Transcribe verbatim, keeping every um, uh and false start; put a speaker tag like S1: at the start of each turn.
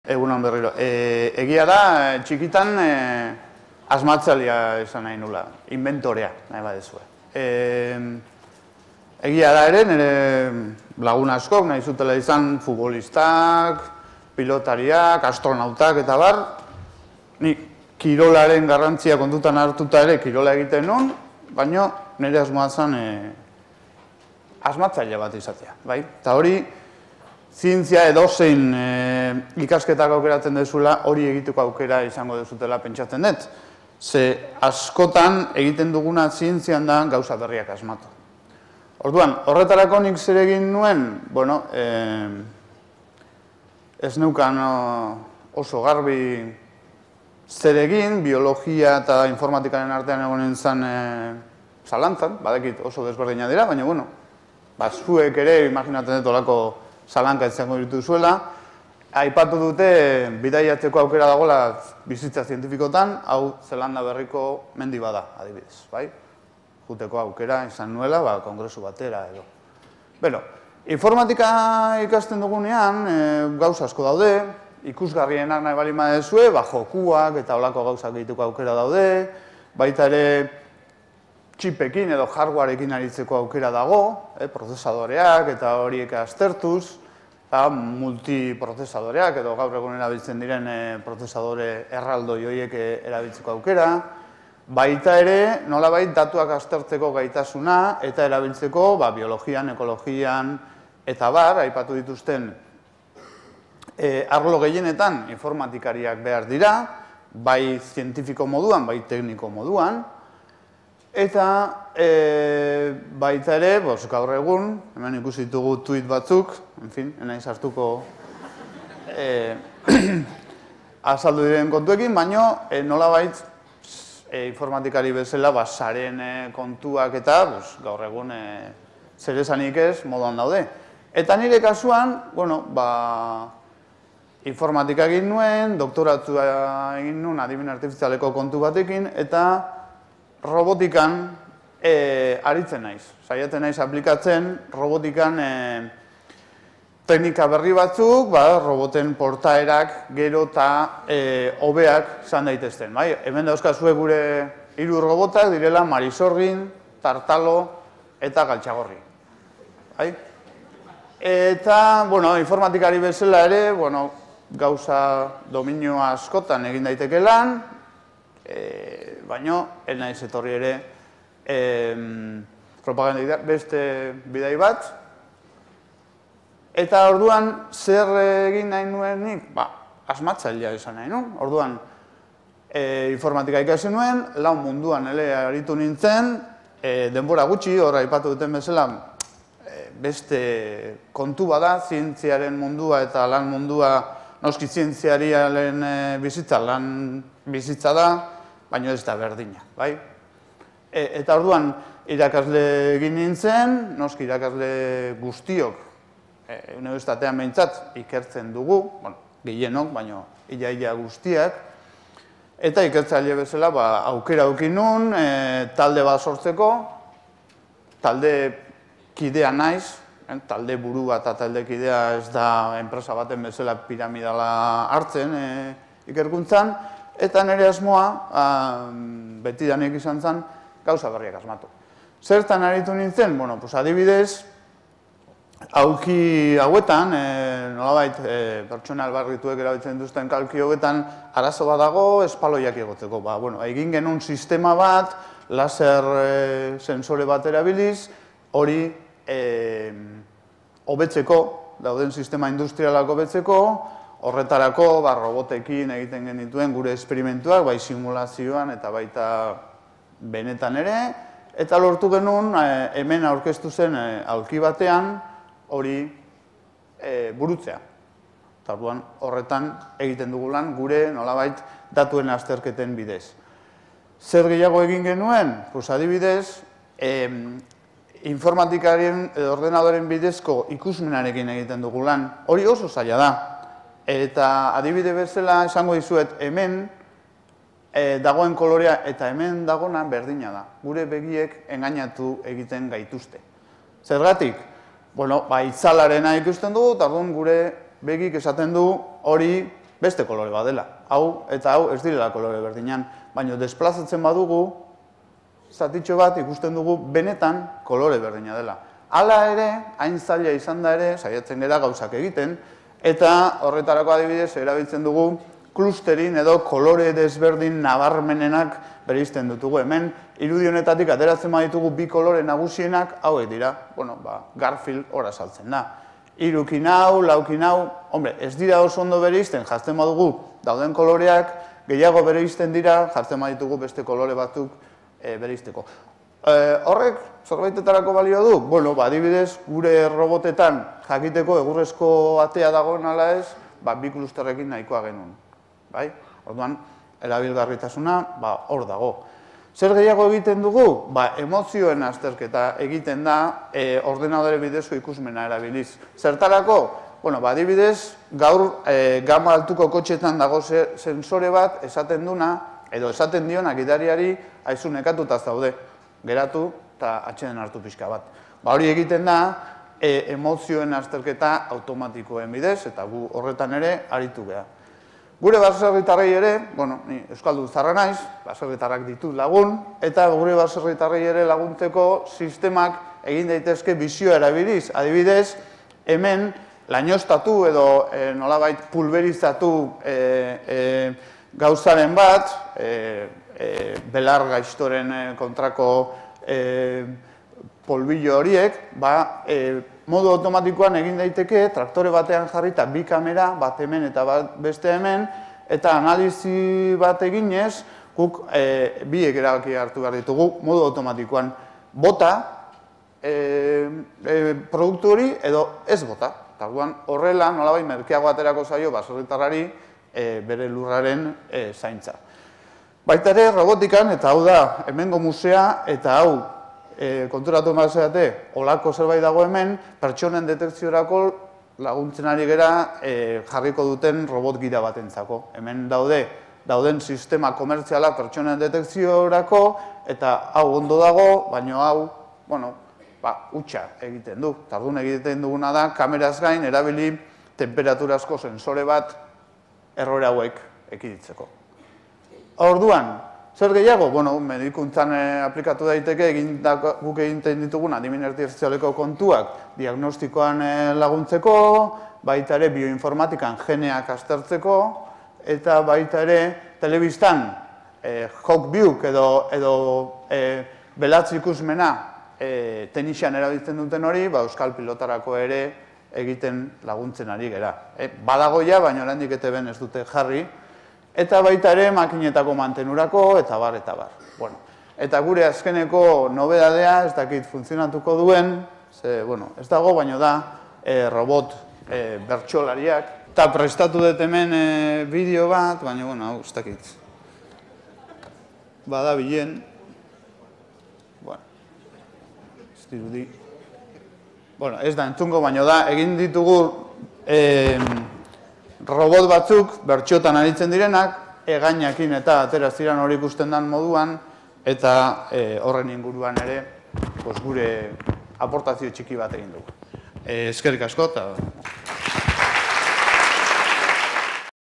S1: Egunon berriro. Egia da, txikitan asmatzailea esan nahi nula, inventorea, nahi badezue. Egia da ere, nire lagun askok nahi zutela izan futbolistak, pilotariak, astronautak eta bar, ni kirolaren garrantzia kontutan hartuta ere kirola egiten nun, baina nire asmoa zen asmatzaile bat izatea, bai? Eta hori, zientzia edozein ikasketak aukeratzen dezula, hori egiteko aukera izango dezutela pentsatzen dut. Ze askotan egiten duguna zientzian da gauza berriak asmatu. Orduan, horretarako nik zer egin nuen, bueno, ez neukan oso garbi zer egin, biologia eta informatikaren artean egonen zen zalantzan, badakit oso desberdina dira, baina, bueno, zuek ere imaginatzen dut olako zalanka izango dituzuela, aipatu dute bidaiatzeko aukera dagoela bizitza zientifikotan, hau Zelanda berriko mendi bada, adibidez, bai? Juteko aukera izan nuela, ba, kongresu batera edo. Beno, informatika ikasten dugunean, gauza asko daude, ikusgarrienak nahi bali madezue, ba, jokuak eta olako gauzak egiteko aukera daude, baita ere txipekin edo hardwareekin aritzeko aukera dago, prozesadoreak eta horiek aztertuz, multiprozesadoreak edo gaur egun erabiltzen diren prozesadore erraldoi horiek erabiltzeko aukera, baita ere nolabait datuak aztertzeko gaitasuna eta erabiltzeko biologian, ekologian eta bar, aipatu dituzten arlo gehienetan informatikariak behar dira, bai zientifiko moduan, bai tekniko moduan, eta baita ere, gaur egun, hemen ikusi ditugu tuit batzuk, enfin, enaiz hartuko azaldu diren kontuekin, baina nolabait informatikari bezala saren kontuak eta gaur egun zer esanik ez moduan daude. Eta nire kasuan, bueno, ba, informatika egin nuen, doktoratua egin nuen adimen artifizialeko kontu batekin, eta robotikan aritzen naiz. Saiatzen naiz aplikatzen robotikan teknika berri batzuk, roboten portaerak gero eta hobeak izan daitezten. Hemen dauzkazue gure hiru robotak direla Marisorgin, Tartalo eta Galtxagorri. Eta, bueno, informatikari bezala ere, bueno, gauza dominio askotan egin daiteke lan, baina, ez naiz etorri ere propaganda beste bidai bat. Eta orduan, zer egin nahi nuen nik? Ba, asmatzailea izan nahi nuen. Orduan, informatika ikasi nuen, lau munduan ele aritu nintzen, denbora gutxi, hor aipatu duten bezala, beste kontu bada, zientziaren mundua eta lan mundua, noski zientziariaren bizitza, lan bizitza da, baina ez da berdina, bai? Eta orduan, irakasle egin nintzen, noski irakasle guztiok, unibertsitatean behintzat ikertzen dugu, gehienok, baina ia-ia guztiak, eta ikertzaile bezala aukera aukin nun, talde bat sortzeko, talde kidea naiz, talde burua eta talde kidea ez da enpresa baten bezala piramidala hartzen ikerkuntzan, eta nire asmoa, betidanik izan zen, gauza berriak asmatu. Zertan aritu nintzen? Bueno, pues adibidez, aulki hauetan, nolabait, pertsona albarrituek erabiltzen duzten kalki hauetan, arazo bat dago, espaloiak egotzeko. Ba, bueno, egin genuen sistema bat, laser sensore bat erabiliz, hori hobetzeko, dauden sistema industrialak hobetzeko, horretarako robotekin egiten genituen gure esperimentuak, bai simulazioan eta baita benetan ere, eta lortu genuen hemen aurkeztu zen aulki batean hori burutzea. Eta horretan egiten dugu lan gure nolabait datuen azterketen bidez. Zer gehiago egin genuen? Pues adibidez, informatikaren ordenadoren bidezko ikusmenarekin egiten dugu lan. Hori oso zaila da. Eta adibide bezala esango dizuet hemen dagoen kolorea eta hemen dagona berdina da. Gure begiek engainatu egiten gaituzte. Zergatik? Bueno, ba, itzalarena ikusten dugu, eta gure begik esaten du hori beste kolore bat dela. Hau eta hau ez direla kolore berdinan, baina desplazatzen badugu, zatitxo bat ikusten dugu benetan kolore berdina dela. Hala ere, hain zaila izan da ere, saiatzen gara gauzak egiten, eta horretarako adibidez erabiltzen dugu klusterin edo kolore desberdin nabarmenenak bereizten dutugu. Hemen, irudi honetatik ateratzen baditugu bi kolore nagusienak, hauek dira, bueno, ba, Garfield hor azaltzen da. Hirukin hau, laukin hau, hombre, ez dira oso ondo bereizten, jartzen badugu dauden koloreak, gehiago bereizten dira, jartzen baditugu beste kolore batzuk e, bereizteko. E, horrek, zerbaitetarako balio du? Bueno, ba, adibidez, gure robotetan jakiteko egurrezko atea dagoen ala ez, ba, bi klusterrekin nahikoa genuen. Bai? Orduan, erabilgarritasuna, ba, hor dago. Zer gehiago egiten dugu? Ba, emozioen azterketa egiten da e, ordenadore bidezko ikusmena erabiliz. Zertarako? Bueno, ba, adibidez, gaur e, gama altuko kotxetan dago sensore bat esaten duna, edo esaten diona gidariari aizu nekatuta zaude, geratu eta atxeden hartu pixka bat. Ba, hori egiten da e, emozioen azterketa automatikoen bidez, eta gu horretan ere aritu geha. Gure baserritarrei ere, bueno, ni euskaldun zarra naiz, baserritarrak ditut lagun, eta gure baserritarrei ere laguntzeko sistemak egin daitezke bizioa erabiliz. Adibidez, hemen lainostatu edo e, nolabait pulverizatu e, e, gauzaren bat, e, e, belar gaiztoren kontrako e, polbillo horiek, ba, e, modu automatikoan egin daiteke, traktore batean jarrita bi kamera, bat hemen eta bat beste hemen, eta analizi bat eginez, guk e, biek erabaki hartu behar ditugu, modu automatikoan bota e, e, produktu hori edo ez bota. Orduan horrela, nolabait merkeago aterako zaio baserritarrari e, bere lurraren e, zaintza. Baita ere, robotikan, eta hau da, hemengo musea, eta hau, E, konturatu emazeate, olako zerbait dago hemen, pertsonen detekziorako laguntzen ari gera e, jarriko duten robot gira batentzako. Hemen daude, dauden sistema komertziala pertsonen detekziorako, eta hau ondo dago, baina hau, bueno, ba, hutsa egiten du. Tardun egiten duguna da, kameraz gain, erabili temperaturazko sensore bat errore hauek ekiditzeko. Orduan, zer gehiago? Bueno, medikuntzan aplikatu daiteke, guk egiten ditugun adimen artifizialeko kontuak diagnostikoan laguntzeko, baita ere bioinformatikan geneak aztertzeko, eta baita ere telebistan Hawkviewk edo belatz ikusmena tenisian erabiltzen duten hori, euskal pilotarako ere egiten laguntzen ari gera. Badagoia, baina oraindik E T Bn ez dute jarri, eta baita ere makinetako mantenurako, eta bar, eta bar. Bueno, eta gure azkeneko nobedadea, ez dakit funtzionatuko duen, ze, bueno, ez dago, baina da, e, robot e, bertsolariak. Eta prestatu dut hemen e, bideo bat, baina, bueno, hau, ez dakit. Bada bilen. Bueno, ez dirudi. Bueno, ez da entzungo, baina da, egin ditugu e, robot batzuk, bertxotan aritzen direnak, egainakin eta atera ziran hori ikusten den moduan, eta e, horren inguruan ere pues, gure aportazio txiki bat egin dugu. E, eskerrik asko, eta